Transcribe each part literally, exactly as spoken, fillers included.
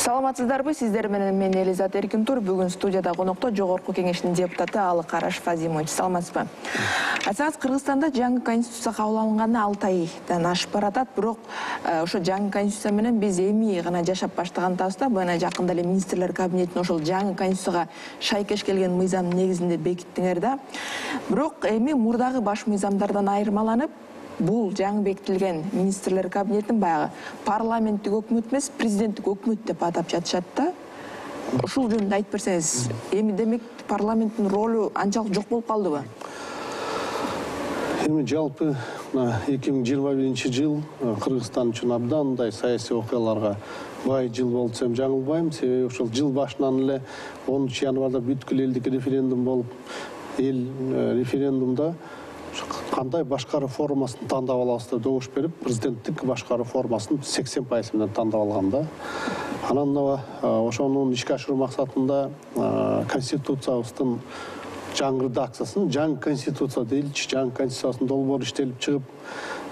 Саламатсыздарбы, сиздер менен мен Элизат Эркинтур. Бүгүн студияда конокто Жогорку кеңештин депутаты Алык Араш Фазимович. Саламатсызбы? Айтсаңыз, Кыргызстанда жаңы конституция кабыл алынганы алты айдан ашып баратат, бирок ошо жаңы конституция менен биз эми гана жашап баштагандабыз да. Мына жакында эле министрлер кабинетине ошол жаңы конституцияга шайкеш келген мыйзам негизинде бекиттиңер да. Бирок эми мурдагы баш мыйзамдардан айырмаланып, бул жаңы бекитилген министрлер кабинетин баягы парламенттик өкмөт эмес, президенттик өкмөт деп атап жатышат да. Ушул жөнүндө айтып берсеңиз, эми демек парламенттин ролу анчалык жок болуп калдыбы? Эми жалпы эки миң жыйырма биринчи жыл Кыргызстан үчүн абдандай саясий окуяларга бай жыл болду десем жаңылбайм. Себеби ошол жыл башынан эле онунчу январда бүткүл элдик референдум болуп, эл референдумда кандай башкаруу формасын тандап алабыз деп добуш берип, президенттик башкаруу формасын сексен пайыз менен тандап алган да. Анан ошонун ишке ашыруу максатында конституциябыздын жаңы редакциясын, жаңы конституция дейилчи, жаңы конституциясынын долбоору иштелип чыгып,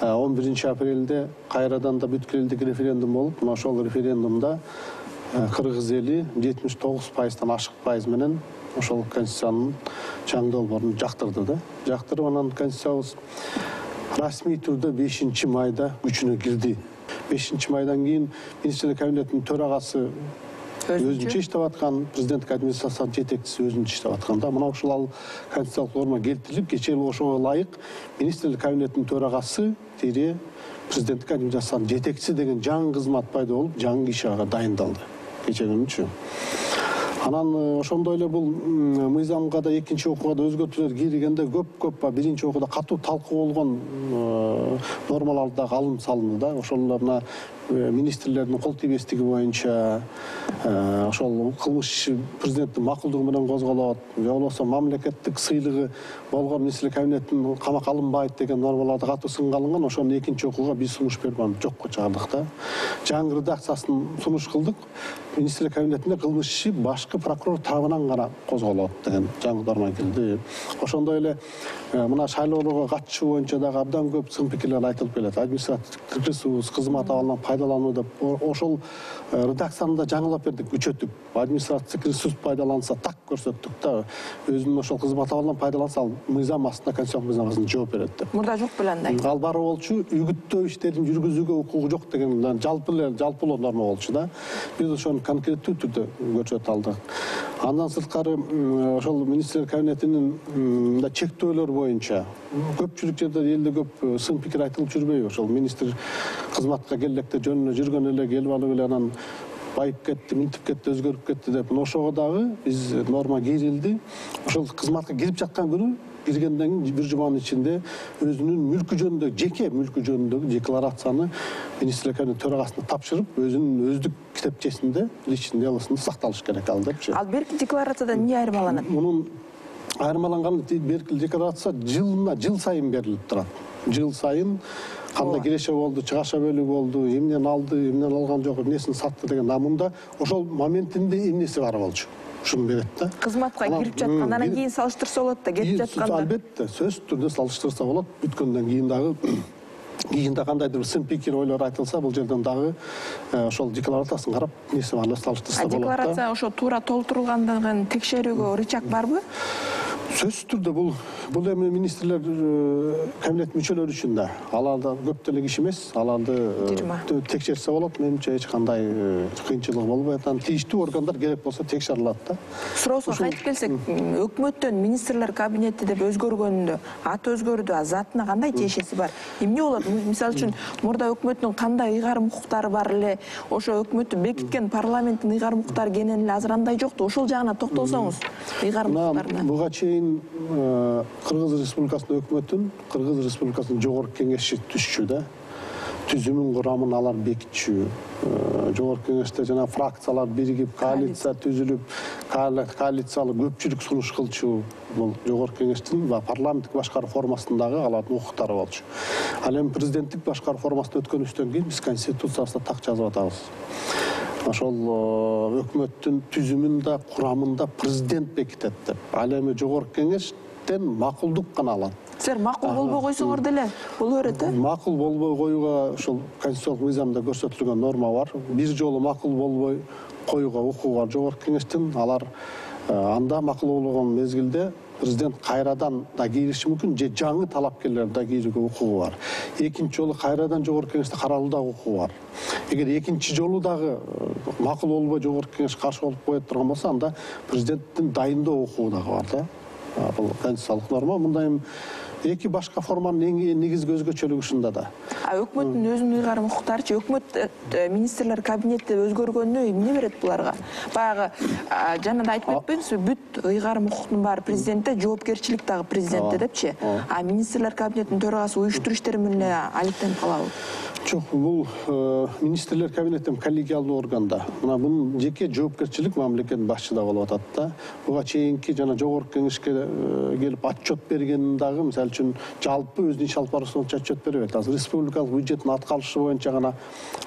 он биринчи апрелде кайрадан да бүткүл элдик референдум болуп, мына ошол референдумда кыргыз эли жетимиш тогуз пайыздан ашык пайыз менен ошол конституциянын жаңы долбоорун жактырды да. Жактырып, анан конституциябыз расмий түрдө бешинчи майда күчүнө кирди. бешинчи майдан кийин министрлер кабинетинин төрагасы өзүнчө иштеп аткан, президенттик администрациянын жетекчиси өзүнчө иштеп аткан да. Мына ушул конституциялык норма келтирилип, кечээ ошого ылайык министрлер кабинетинин төрагасы тире президенттик администрациянын жетекчиси деген жаңы кызмат пайда болуп, жаңы киши ага дайындалды кечээ күнүчү. Анан ошондой эле бул мыйзамга да экинчи окууга да өзгөртүүлөр киргенде көп-көп биринчи окууда катуу талкуу болгон нормалар да алынып салынды да. Ошолор мына министрлердин кол тийбестиги боюнча ошол кылмыш иши президенттин макулдугу менен козголот, же болбосо мамлекеттик сыйлыгы болгон министрлер кабинетинин камакка алынбайт деген нормаларда катуу сынга алынган. Ошону экинчи окууга биз сунуш берип аны жокко чыгардык да. Жаңы редакциясын сунуш кылдык. Министрлер кабинетинде кылмыш иши башкы прокурор тарабынан гана козголот деген жаңы норма кирди. Ошондой эле мына шайлоолорго катышуу боюнча дагы абдан көп сын пикирлер айтылып келет. Административдик ресурс, кызмат абалынан пайдалануу деп ошол редакцияны да жаңылап бердик, күчөтүп. Административдик ресурс пайдаланса так көрсөттүк да. Өзүнүн ошол кызмат абалынан пайдаланса ал мыйзам астында, конституциялык мыйзам астында жооп берет деп. Мурда жок беле андай. Ал бар болчу, үгүттөө иштерин жүргүзүүгө укугу жок деген жалпы эле жалпылоо норма болчу да. Биз ошону конкреттүү түрдө көрсөтө алдык. Андан сырткары ошол министрлер кабинетинин да чектөөлөр боюнча көпчүлүк жерде элде көп сын пикир айтылып жүрбөйбү? Ошол министр кызматка келе электе жөнүнө жүргөн эле келип алып эле анан байып кетти, минтип кетти, өзгөрүп кетти деп. Ошого дагы биз норма кирилди. Ошол кызматка кирип жаткан күнү киргенден кийин бир жуманын ичинде өзүнүн мүлкү жөнүндө, жеке мүлкү жөнүндөгү декларацияны министрлер кабинети төрагасына тапшырып, өзүнүн өздүк китепчесинде, личный делосунда сакталыш керек ал депчи. Ал берки декларациядан эмне айырмаланат? Мунун айырмаланган берки декларация жылына жыл сайын берилип турат. Жыл сайын кандай киреше болду, чыгаша бөлүгү болду, эмнени алды, эмнени алган жок, эмнесин сатты деген намында ошол моментинде эмнеси бар болчу. Ушуну берет да. Кызматка кирип жаткандан кийин салыштырса болот да, кетип жатканда. Албетте, сөзсүз түрдө салыштырса болот. Бүткөндөн кийин дагы кийин да кандайдыр бир сын пикир ойлор айтылса, бул жерден дагы ошол декларациясын карап, эмнеси бар деп салыштырса болот да. Декларация ошо туура толтурулгандыгын текшерүүгө рычаг барбы? Сөзсүз түрдө бул бул эми министрлер кабинет мүчөлөрү үчүн да. Аларда көп деле киши эмес, аларды текшерсе болот. Менимче эч кандай кыйынчылык болбойт. Анан тийиштүү органдар керек болсо текшере алат да. Суроосуна кайтып келсек, өкмөттөн министрлер кабинети деп өзгөргөндө, аты өзгөрдү, а затына кандай тиешеси бар? Эмне болот? Мисалы үчүн, мурда өкмөттүн кандай ыйгарым укуктары бар эле, ошо өкмөттү бекиткен парламенттин ыйгарым укуктары кенен эле азырандай жокту. Ошол жагына токтолсоңуз, ыйгарым укуктарына. Буга чейин Кыргыз Республикасынын өкмөтүн, Кыргыз Республикасынын жогорку кеңеши түзчү да. Түзүмүн курамын алар бекитчү. Жогорку кеңеште жана фракциялар биригип, коалиция түзүлүп, коалициялык көпчүлүк сунуш кылчу. Бул жогорку кеңештин ва парламенттик башкаруу формасындагы алардын укуктары болчу. Ал эми президенттик башкаруу формасына өткөнүбүздөн кийин биз конституциябызда так жазып атабыз. Ошол өкмөттүн түзүмүн да, курамын да президент бекитет деп. Ал эми жогорку кеңештен макулдук гана алат. Силер макул болбой койсоңор деле боло берет э? Макул болбой коюуга ошол конституциялык мыйзамда көрсөтүлгөн норма бар. Бир жолу макул болбой коюуга укугу бар жогорку кеңештин. Алар анда макул болгон мезгилде президент кайрадан да кириши мүмкүн, же жаңы талапкерлер да кирүүгө укугу бар. Экинчи жолу кайрадан жогорку кеңеште каралуудагы укугу бар. Эгер экинчи жолу дагы макул болбой жогорку кеңеш каршы болуп кое турган болсо, анда президенттин дайындоо укугу дагы бар да. Бул конституциялык норма. Мындай эки башка форманын эң негизги өзгөчөлүгү ушунда да. А өкмөттүн өзүнүн ыйгарым укуктарычы, өкмөт министрлер кабинети өзгөргөнү эмне берет буларга? Баягы жана да айтып кетпедиңизби, бүт ыйгарым укуктун баары президентте, жоопкерчилик дагы президентте депчи. А министрлер кабинетинин төрагасы уюштуруш иштери менен эле алектенип калабы? Жок, бул министрлер кабинетин коллегиалдуу органда. Мына бунун жеке жоопкерчилик мамлекеттин башчыда болуп атат да. Буга чейинки жана жогорку кеңешке келип отчет берген дагы, мисалы үчүн жалпы өзүнүн иш алып баруусу боюнча отчет бере берет. Азыр республикалык бюджеттин аткарышы боюнча гана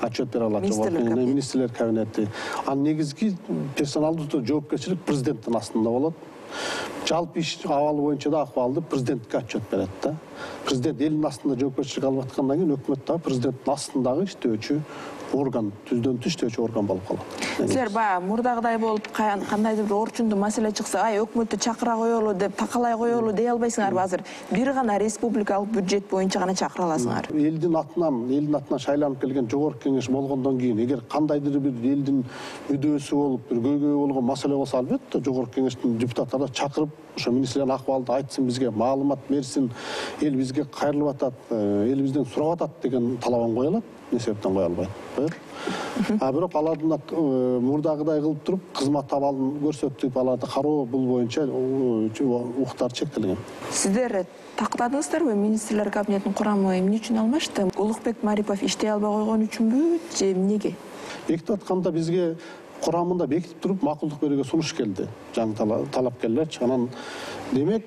отчет бере алат жогорку министрлер кабинети. Анын негизги персоналдуу жоопкерчилик президенттин астында болот. Жалпы иш абалы боюнча да акыбалды президентке отчет берет да. Президент элдин астында жоопкерчилик алып аткандан кийин өкмөт дагы президенттин астындагы иштөөчү орган, түздөн түз иштөөчү орган болуп калат. Силер баягы мурдагыдай болуп кандайдыр бир орчундуу маселе чыкса, ай өкмөттү чакыра коелу деп такалай коелу дей албайсыңарбы? Азыр бир гана республикалык бюджет боюнча гана чакыра аласыңар. Элдин атынан, элдин атынан шайланып келген жогорку кеңеш болгондон кийин, эгер кандайдыр бир элдин мүдөөсү болуп, бир көйгөй болгон маселе болсо, албетте жогорку кеңештин депутаттары чакырып, ошо министрлер акыбалды айтсын, бизге маалымат берсин, эл бизге кайрылып атат, эл бизден сурап атат деген талабын кое алат. Не себептен кое албайт. А бирок алардын мурдагыдай кылып туруп кызмат абалын көрсөтүп аларды кароо, бул боюнча укуктар чектелген. Сиздер тактадыңыздарбы министрлер кабинетинин курамы эмне үчүн алмашты? Улукбек Марипов иштей албай койгон үчүнбү же эмнеге? Бекитип атканда бизге курамында бекитип туруп макулдук берүүгө сунуш келди. Жаңы талапкерлерчи. Анан демек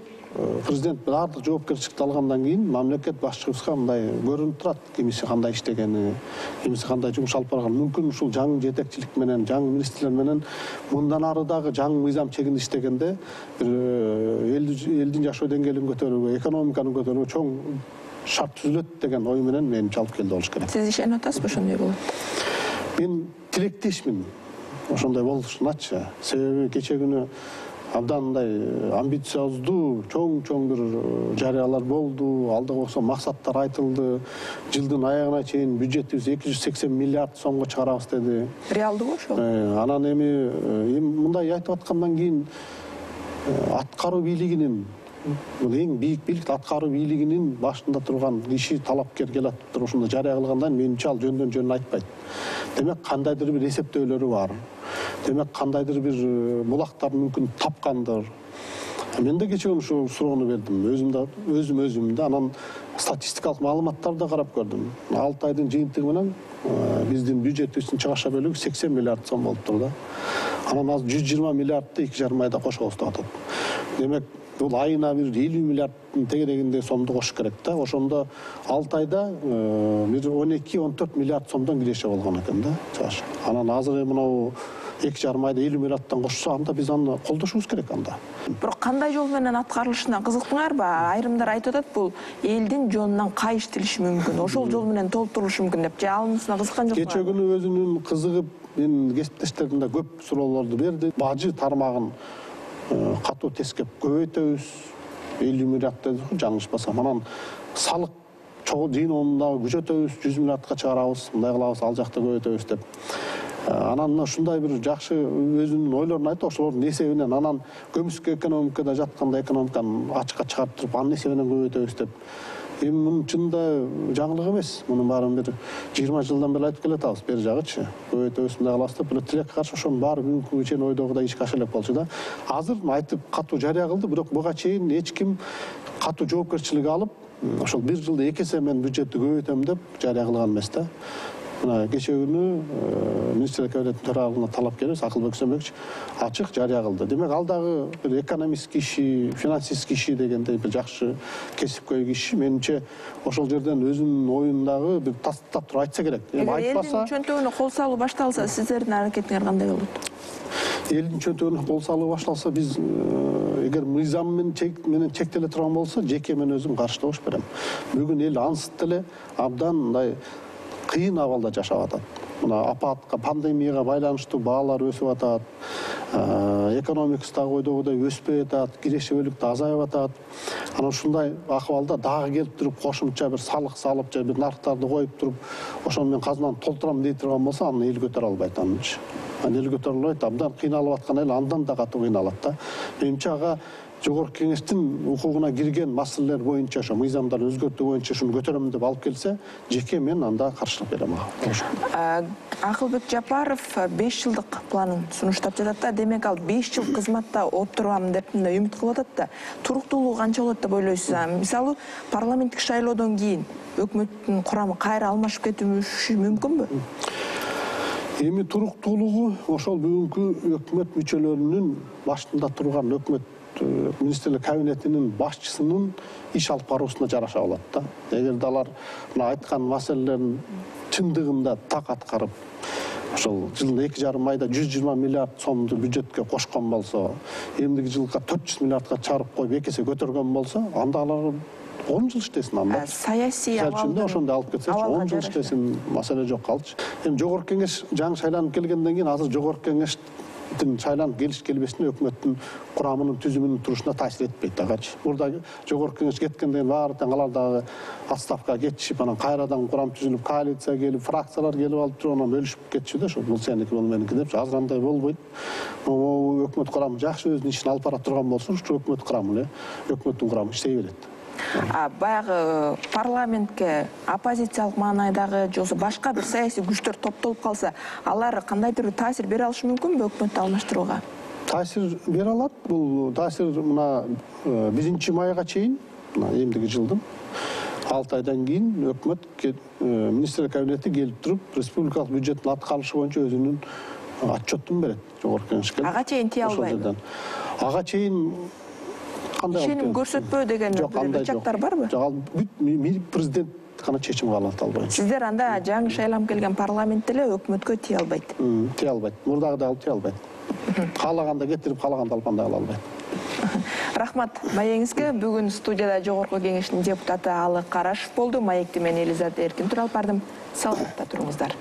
президент баардык жоопкерчиликти алгандан кийин мамлекет башчыбызга мындай көрүнүп турат, кимиси кандай иштегени, кимиси кандай жумуш алып барган. Мүмкүн ушул жаңы жетекчилик менен, жаңы министрлер менен мындан ары дагы жаңы мыйзам чегинде иштегенде элдин жашоо деңгээлин көтөрүүгө, экономиканы көтөрүүгө чоң шарт түзүлөт деген ой менен менимче алып келди болуш керек. Сиз ишенип атасызбы ошондой болот? Мен тилектешмин ошондой болушуначы. Себеби кече күнү абдан мындай амбициоздуу, чоң-чоң бир жарыялар болду, алдыга койгон максаттар айтылды. Жылдын аягына чейин бюджетибиз эки жүз сексен миллиард сомго чыгарабыз деди. Реалдуу ошол? Анан эми мындай айтып аткандан кийин аткаруу бийлигинин, бул эң бийик бийлик, аткаруу бийлигинин башында турган киши талапкер келип туруп ушундай жарыя кылгандан менимче ал жөндөн жөн айтпайт. Демек кандайдыр бир эсептөөлөрү бар. Демек кандайдыр бир булактар мүмкүн тапкандыр. Мен да кече ушул суроону бердим. Өзүм да өзүм өзүм да анан статистикалык маалыматтарды да карап көрдүм. алты айдын жыйынтыгы менен биздин бюджетибиздин чыгаша бөлүгү сексен миллиард сом болуптур да. Анан азыр жүз жыйырма миллиардты эки жарым айда кошобуз деп атат. Демек бул айына бир элүү миллиардтын тегерегинде сомду кош керек да. Ошондо алты айда бир он эки он төрт миллиард сомдон киреше болгон экен да. Анан азыр мынау эки жарым айда элүү миллиардтан кошсо, анда биз аны колдошубуз керек анда. Бирок кандай жол менен аткарылышына кызыктыңарбы? Айрымдар айтып атат, бул элдин жонунан кайыштырышы мүмкүн, ошол жол менен толтурулушу мүмкүн деп. Же алынысына кызыккан жоксуңарбы? Кече күнү өзүнүн кызыгып, менин кесиптештерим да көп суроолорду берди. Бажы тармагын катуу тескеп көбөйтөбүз, элүү миллиард деди, жаңылышпасам. Анан салык жыйынын дагы күчөтөбүз, жүз миллиардка чыгарабыз, мындай кылабыз, ал жакта көбөйтөбүз деп. Анан ушундай бир жакшы өзүнүн ойлорун айтты, ошолордун эсебинен анан көмүскө экономикада жатканда экономиканы ачыкка чыгарып туруп, анын эсебинен көбөйтөбүз деп. Эми мунун чынында жаңылык эмес. Мунун баарын бир жыйырма жылдан бери айтып келатабыз, бери жагычы. Көбөйтөбүз, мындай кылабыз деп, бир тилекке каршы ошонун баары бүгүнкү күнгө чейин ойдогудай ишке аша элек болчу да. Азыр айтып катуу жарыя кылды, бирок буга чейин эч ким катуу жоопкерчилик алып, ошол бир жылда эки эсе мен бюджетти көбөйтөм деп жарыя кылган эмес да. Мына кече күнү министрлер кабинетинин төрагалыгына талап келебиз, Акылбек Сөмбөкч ачык жарыя кылды. Демек ал дагы бир экономист киши, финансист киши дегендей бир жакшы кесипкөй киши. Менимче ошол жерден өзүнүн оюн дагы бир тастап туруп айтса керек. Эми айтпаса, элдин чөнтөгүнө кол салуу башталса, сиздердин аракетиңер кандай болот? элдин чөнтөгүнө кол салуу башталса, биз эгер мыйзам менен чектеле турган болсо, жеке мен өзүм каршы добуш берем. Бүгүн эл ансыз деле абдан мындай кыйын абалда жашап атат. Мына апатка, пандемияга байланыштуу баалар өсүп атат, экономикасы дагы ойдогудай өспөй атат, кирешебөлүк да азайып атат. Анан ушундай акыбалда дагы келип туруп кошумча бир салык салып, же бир нарктарды коюп туруп, ошону мен казынаны толтурам дей турган болсо, аны эл көтөрө албайт анычы. Аны эл көтөрө албайт, абдан кыйналып аткан эл андан да катуу кыйналат да. Менимче ага Жогорку Кеңештин укугуна кирген маселелер боюнча, ошо мыйзамдарды өзгөртүү боюнча ушуну көтөрөм деп алып келсе, жеке мен анда каршылык берем ага. Акылбек Жапаров беш жылдык планын сунуштап жатат да, демек ал беш жыл кызматта отурам деп үмүт кылып атат да. Туруктуулугу канча болот деп ойлойсуз? Мисалы, парламенттик шайлоодон кийин өкмөттүн курамы кайра алмашып кетиши мүмкүнбү? Эми туруктуулугу ошол бүгүнкү өкмөт мүчөлөрүнүн башында турган өкмөт министрлер кабинетинин башчысынын иш алып баруусуна жараша болот да. Эгерде алар мына айткан маселелерин чындыгында так аткарып, ошол жылына эки жарым айда жүз жыйырма миллиард сомду бюджетке кошкон болсо, эмдиги жылга төрт жүз миллиардка чарып коюп эки эсе көтөргөн болсо, анда алар он жыл иштесин анда. Саясий абалды ошондой алып кетсечи, он жыл иштесин, маселе жок калчы. Эми Жогорку Кеңеш жаңы шайланып келгенден кийин азыр Жогорку Кеңештин шайланып келиш келбесине өкмөттүн курамынын түзүмүнүн турушуна таасир этпейт агачы. Мурда Жогорку Кеңеш кеткенден баары тең алар дагы отставкага кетишип, анан кайрадан курам түзүлүп, коалиция келип, фракциялар келип алып туруп, анан бөлүшүп кетиши да, ошо бул сеники, бул меники деп. Азыр андай болбойт. Өкмөт курамы жакшы өзүнүн ишин алып бара турган болсо, ушу өкмөт курамы эле, өкмөттүн курамы иштей берет. Баягы парламентке оппозициялык маанайдагы же башка бир саясий күчтөр топтолуп калса, алар кандайдыр бир таасир бере алышы мүмкүнбү өкмөттү алмаштырууга? Таасир бере алат. Бул таасир мына биринчи майга чейин, мына эмдиги жылдын алты айдан кийин өкмөт министрлер кабинети келип туруп, республикалык бюджеттин аткарылышы боюнча өзүнүн отчетун берет Жогорку Кеңешке. Ага чейин тие албайбы? Ага чейин ишеним көрсөтпөө деген бир чактар барбы? Жок, бүт президент гана чечим кабыл алат албайт. Сиздер анда жаңы шайланып келген парламент эле өкмөткө тие албайт. Тие албайт. Мурдагыдай алып тие албайт. Каалаганда кетирип, каалаганда алып андай кыла албайт. Рахмат маегиңизге. Бүгүн студияда Жогорку Кеңештин депутаты Алы Карашев болду. Маекти мен Элизабет Эркин туруп алып бардым. Саламатта туруңуздар.